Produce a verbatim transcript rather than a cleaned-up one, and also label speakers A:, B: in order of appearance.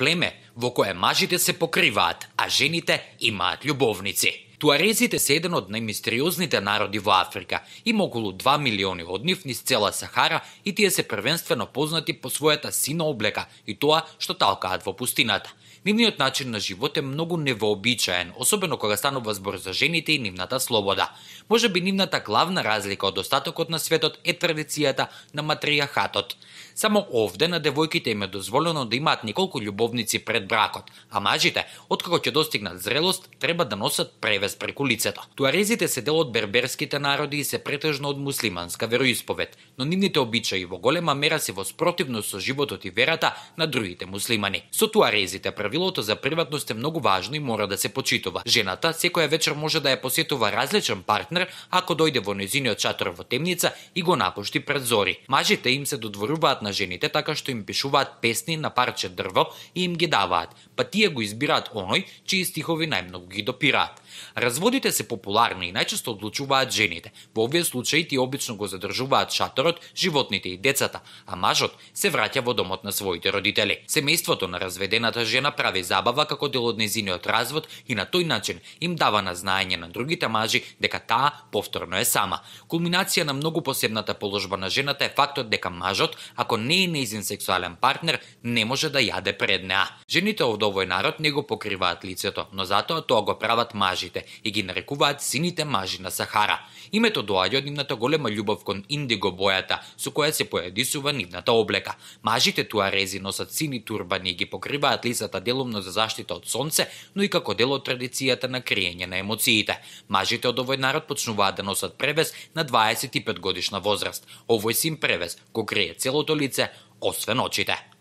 A: племе во кое мажите се покриваат, а жените имаат љубовници. Туарезите се еден од најмистериозните народи во Африка. Има околу два милиони од нив низ цела Сахара и тие се првенствено познати по својата сина облека и тоа што талкаат во пустината. Нивниот начин на живот е многу невообичаен, особено кога станува збор за жените и нивната слобода. Може би нивната главна разлика од остатокот на светот е традицијата на матријахатот. Само овде на девојките им е дозволено да имаат неколку љубовници пред бракот, а мажите, откако ќе достигнат зрелост, треба да носат превес преку лицето. Туарезите се дел од берберските народи и се претежно од муслиманска вероисповед, но нивните обичаи во голема мера се во спротивност со животот и верата на другите муслимани. Со туарезите правилото за приватност е многу важно и мора да се почитува. Жената секоја вечер може да ја посетува различен партнер ако дојде во нејзиниот шатор во темница и го напушти пред зори. Мажите им се додворуваат на жените така што им пишуваат песни на парче дрво и им ги даваат, па тие го избираат оној чии стихови најмногу ги допираат. Разводите се популарни и најчесто одлучуваат жените. Во овие случаи тие обично го задржуваат шаторот, животните и децата, а мажот се враќа во домот на своите родители. Семејството на разведената жена прави забава како дел од нејзиниот развод и на тој начин им дава на знаење на другите мажи дека таа повторно е сама. Кулминација на многу посебната положба на жената е фактот дека мажот, ако не е нејзин сексуален партнер, не може да јаде пред неа. Жените од овој народ не го покриваат лицето, но затоа тоа го прават мажите и ги нарекуваат сините мажи на Сахара. Името доаѓа од нивната голема љубов кон индиго бојата со која се поедисува нивната облека. Мажите туарези носат сини турбани и ги покриваат лицата делумно за заштита од сонце, но и како дел од традицијата на криење на емоциите. Мажите од овој народ почнуваат да носат превес на дваесет и пет годишна возраст. Овој син превес го крие целото лице, освен очите.